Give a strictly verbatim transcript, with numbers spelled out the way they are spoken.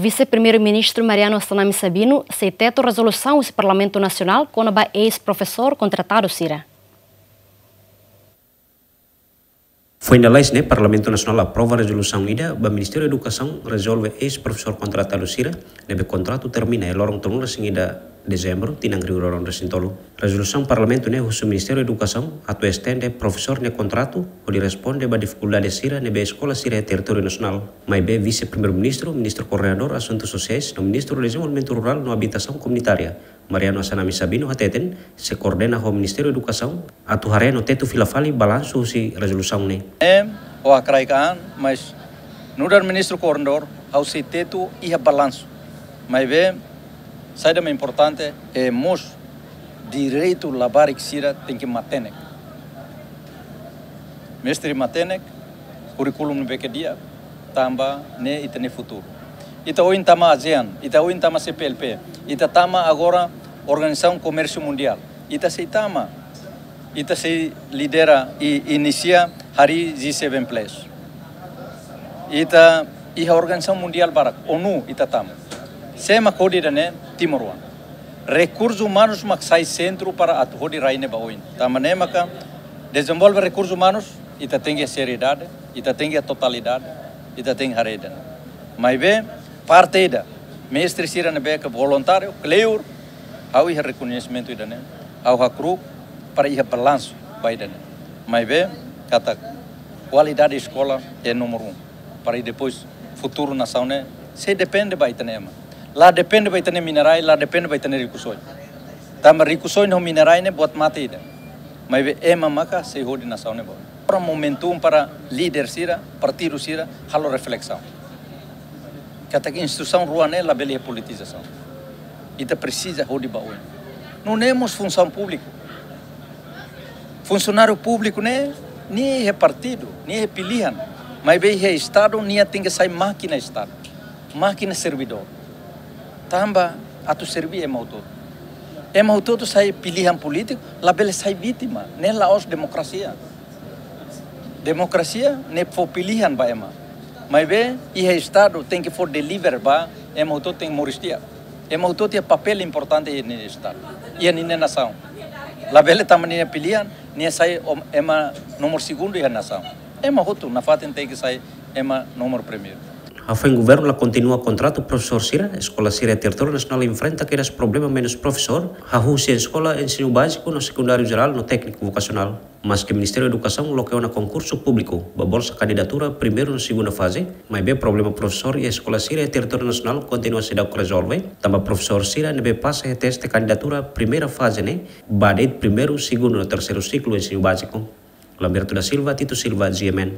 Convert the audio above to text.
Vise-Primeiru-Ministru Mariano Assanami Sabino sei tetu rezolusaun husi Parlamentu Nasionál kona-ba eis-profesór kontratadu sira. Foin lalais ne'e, Parlamentu Nasionál aprova rezolusaun ida ba Ministériu Edukasaun rezolve eis-profesór kontratadu sira ne'ebé kontratu termina iha loron tolunulu-resin-ida Dezembru tinan rihun rua ruanulu resin-tolu. Rezolusaun Parlamentu ne'e husu Ministériu Edukasaun atu estende profesór nia kontratu hodi responde ba difikuldade sira ne'ebé eskola sira iha territóriu nasionál. Maibé Vise-Primeiru-Ministru, Ministru Koordenadór Asuntu Sosiais no Ministru Dezenvolvimentu Rurál no Abitasaun Komunitária, Mariano Assanami Sabino hateten sei koordena ho Ministériu Edukasaun atu haree no tetu fila fali balansu husi rezolusaun ne'e. Em, o akraik an, mas nu'udar Ministru Koordenadór, ha'u sei tetu iha balansu. Maibé, saida mak importante, é mós direitu labarik sira tenke matenek. Mestre matenek, kurríkulu ne'ebé ke di'ak, tanba ne'e ita-nia futuru. Ita ohin tama ASEAN, ita ohin tama C P L P, ita tama agora Organizasaun Komérsiu Mundiál. Ita sei tama, ita sei lidera i inisia harii G seven plus. Ita iha organizasaun mundiál barak, ONU ita tama. Sé mak hodi ida-ne'e? Timoroan. Rekursus umanus mak sai sentru para atu hodi rai ne'e ba oin. Tanba ne'e maka dezenvolve rekursus umanus, ita tenke seriedade, ita tenke totalidade, ita tenke haree ida-ne'e. Maibé, parte ida, mestre sira ne'ebé ke voluntáriu, kleur, ha'u iha rekoñesimentu ida-ne'e, ha'u hakru'uk para iha balansu ba ida-ne'e. Maibé, katak kualidade eskola é númeru um. Para depois futuru nasaun ne'e sei depende ba ita-nia ema. La depende ba ita-nia minerais, la depende ba ita-nia rikusoin. Tanba rikusoin ho minerais ne'e buat mate ida. Maibé ema maka sei hodi nasaun ne'e ba oin. Agora momentum para líder sira, partidu sira, halo reflesaun. Katak instituisaun rua ne'e labele politizasaun. Ita presiza hodi ba oin. Nune'e mós funsaun públiku. Funsionáriu públiku ne'e, nia iha partidu, nia iha pilihan. Maibé iha Estadu, nia tenke sai mákina Estadu. Mákina servidór. Tanba atu serve ema hotu-hotu. Ema hotu-hotu sai pilihan polítiku, labele sai vítima. Ne'e la'ós demokrasia. Demokrasia ne'e fó pilihan ba ema. Maibé, iha Estadu tenke fó deliver ba ema hotu-hotu tenke moris di'ak. Ema hotu-hotu iha papél importante iha nia Estadu, iha nia nasaun. Labele tanba nia pilihan, nia sai om-, ema nomor segundu iha nasaun. Ema hotu nafatin tenke sai ema nomor primeiru. Hafoin governu la kontinua kontratu profesór sira, eskola sira iha territóriu nasionál enfrenta kedas problema menus profesór, hahú husi eskola ensinu báziku no sekundáriu jerál no tékniku vokasionál. Maske Ministériu Edukasaun loke ona konkursu públiku ba bolsa kandidatura primeira no segunda faze, maibé problema profesór iha eskola sira iha territóriu nasionál kontinua seidauk rezolve, tanba profesór sira ne'ebé pasa iha teste kandidatura primeira faze ne'e ba de'it primeiru, segundu no terseiru siklu ensinu báziku. Lamberto da Silva, Tito Silva, G M N.